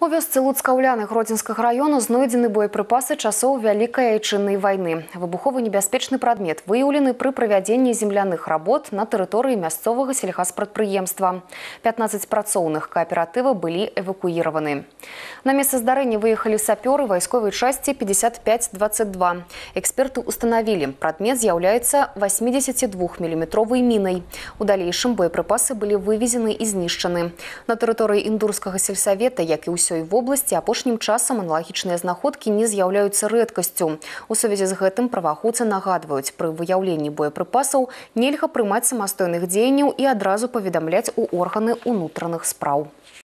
У вёсцы Луцкаўляны Гродзенскага району знойдзены боепрыпасы часоў Вялікай Айчыннай вайны. Выбуховы небяспечны прадмет выяўлены пры правядзенні земляных работ на тэрыторыі мясцовага сельгаспрадпрыемства. 15 працоўных кааператыва былі эвакуіраваны. На месца здарэння выехалі сапёры вайсковай часці 5522. Эксперты установілі, прадмет з'яўляецца 82-мм мінай. У далейшым боепрыпасы былі вывезены і знішчаны. На тэрыторыі індурскага сельсавета, як і ўсёй вобласці, апошнім часам аналагічныя знаходкі не з'яўляюцца рэдкасцю. У сувязі з гэтым праваахоўцы нагадваюць, пры выяўленні боепрыпасаў нельга прымаць самастойных дзеянняў і адразу паведамляць у органы ўнутраных спраў.